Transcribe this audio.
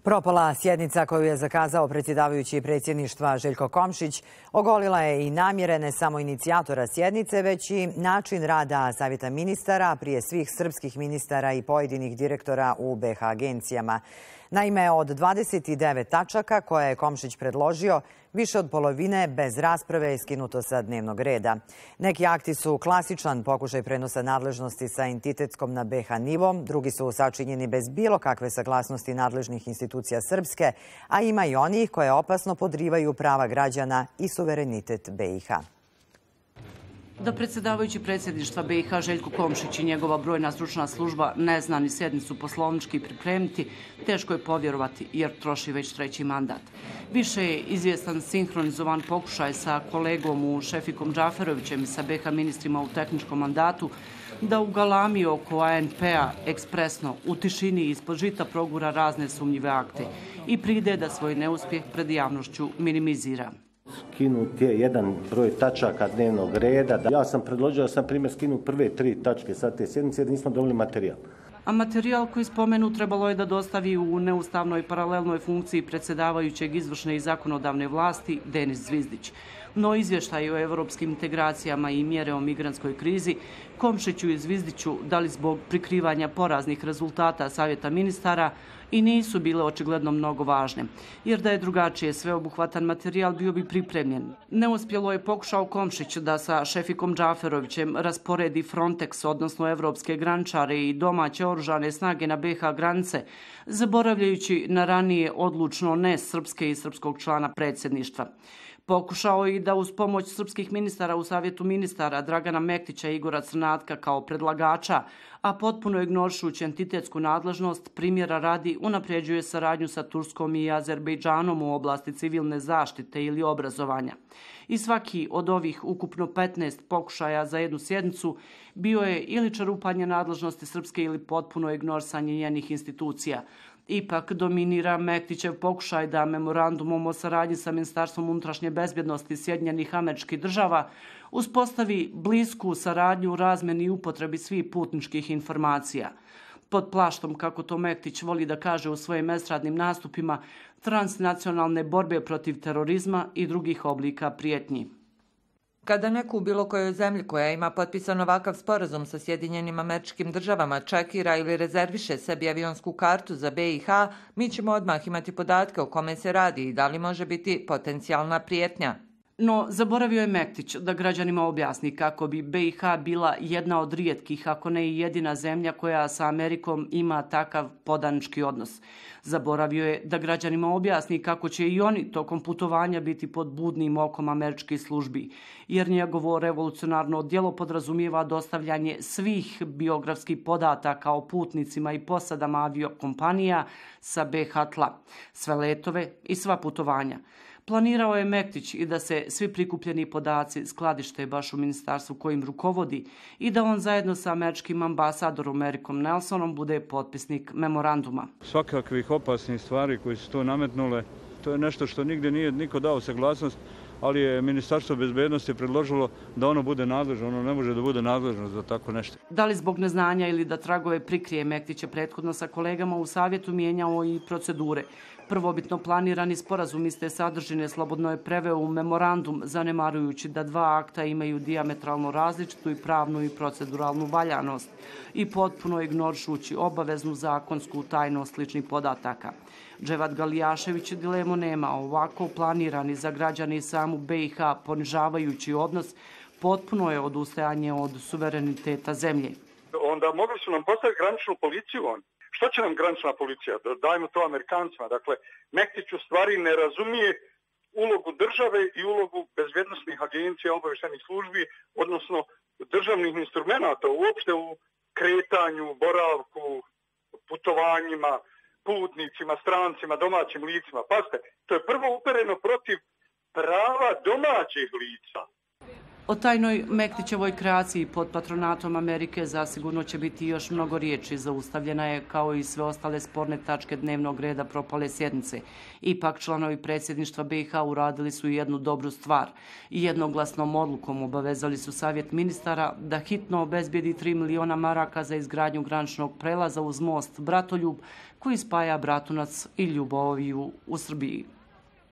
Propala sjednica koju je zakazao predsjedavajući predsjedništva Željko Komšić ogolila je i namjere ne samo inicijatora sjednice, već i način rada Savjeta ministara, prije svih srpskih ministara i pojedinih direktora u BiH agencijama. Naime, od 29 tačaka koje je Komšić predložio, više od polovine bez rasprave je skinuto sa dnevnog reda. Neki akti su klasičan pokušaj prenosa nadležnosti sa entitetskom na BiH nivom, drugi su sačinjeni bez bilo kakve saglasnosti nadležnih institucija Srpske, a ima i onih koje opasno podrivaju prava građana i suverenitet BiH. Da predsjedavajući predsjedništva BiH Željko Komšić i njegova brojna stručna služba ne zna ni sjednicu poslovnički pripremiti, teško je povjerovati jer troši već treći mandat. Više je izvjestan sinhronizovan pokušaj sa kolegom u Šefikom Džaferovićem i sa BiH ministrima u tehničkom mandatu da u galami oko ANP-a ekspresno u tišini ispod žita progura razne sumnjive akte i pride da svoj neuspjeh pred javnošću minimizira. Skinut je jedan broj tačaka dnevnog reda. Ja sam predložio da sam primjer skinu prve 3 tačke sa te sjednice jer nismo dobili materijal. A materijal koji spomenu trebalo je da dostavi u neustavnoj paralelnoj funkciji predsjedavajućeg izvršne i zakonodavne vlasti Denis Zvizdić. No izvještaj o evropskim integracijama i mjere o migrantskoj krizi Komšiću i Zvizdiću dali zbog prikrivanja poraznih rezultata Savjeta ministara i nisu bile očigledno mnogo važne, jer da je drugačije sveobuhvatan materijal bio bi pripremljen. Neuspjelo je pokušao Komšić da sa Šefikom Džaferovićem rasporedi Frontex, odnosno evropske graničare i domaće oružane snage na BiH granice, zaboravljajući na ranije odlučno ne srpske i srpskog člana predsjedništva. Pokušao i da uz pomoć srpskih ministara u Savjetu ministara Dragana Mektića i Igora Crnatka kao predlagača, a potpuno ignoršući entitetsku nadležnost, primjera radi unapređuje saradnju sa Turskom i Azerbejdžanom u oblasti civilne zaštite ili obrazovanja. I svaki od ovih ukupno 15 pokušaja za jednu sjednicu bio je ili čerupanje nadležnosti Srpske ili potpuno ignorisanje njenih institucija. Ipak dominira Mektićev pokušaj da memorandumom o saradnji sa Ministarstvom unutrašnje bezbjednosti Sjedinjenih Američkih Država uspostavi blisku saradnju u razmjeni i upotrebi svih putničkih informacija. Pod plaštom, kako to Mektić voli da kaže u svojim estradnim nastupima, transnacionalne borbe protiv terorizma i drugih oblika prijetnji. Kada neko u bilo kojoj zemlji koja ima potpisan ovakav sporazum sa Sjedinjenim Američkim Državama čekira ili rezerviše sebi avionsku kartu za BiH, mi ćemo odmah imati podatke o kome se radi i da li može biti potencijalna prijetnja. No, zaboravio je Mektić da građanima objasni kako bi BiH bila jedna od rijetkih, ako ne i jedina zemlja koja sa Amerikom ima takav podanički odnos. Zaboravio je da građanima objasni kako će i oni tokom putovanja biti pod budnim okom američkih službi, jer njegovo revolucionarno djelo podrazumijeva dostavljanje svih biografskih podataka o putnicima i posadama aviokompanija sa BiH tla, sve letove i sva putovanja. Planirao je Mektić i da se svi prikupljeni podaci skladište baš u ministarstvu kojim rukovodi i da on zajedno sa američkim ambasadorom Ericom Nelsonom bude potpisnik memoranduma. Svakakvih opasnih stvari koje su to nametnule, to je nešto što nigdje nije niko dao saglasnost, ali je Ministarstvo bezbednosti predložilo da ono bude nadležno, ono ne može da bude nadležno za tako nešto. Da li zbog neznanja ili da tragove prikrije, Mektić je prethodno sa kolegama u savjetu mijenjao i procedure. Prvobitno planirani sporazum iste sadržine slobodno je preveo u memorandum, zanemarujući da 2 akta imaju dijametralno različitu i pravnu i proceduralnu valjanost i potpuno ignoršući obaveznu zakonsku tajnost ličnih podataka. Dževat Galijašević dilemu nema, ovako planirani za građane i samu BiH ponižavajući odnos potpuno je odustajanje od suvereniteta zemlje. Onda mogli su nam postaviti graničnu policiju oni. Što će nam granična policija? Dajmo to Amerikancima. Dakle, Mektić u stvari ne razumije ulogu države i ulogu bezbjednosnih agencija, obavještajnih službi, odnosno državnih instrumenata uopšte u kretanju, boravku, putovanjima, putnicima, strancima, domaćim licima. Pazite, to je prvo upereno protiv prava domaćih lica. O tajnoj Mektićevoj kreaciji pod patronatom Amerike zasigurno će biti još mnogo riječi. Zaustavljena je, kao i sve ostale sporne tačke dnevnog reda propale sjednice. Ipak članovi predsjedništva BiH uradili su jednu dobru stvar i jednoglasnom odlukom obavezali su Savjet ministara da hitno obezbijedi 3 miliona maraka za izgradnju graničnog prelaza uz most Bratoljub koji spaja Bratunac i Ljuboviju u Srbiji.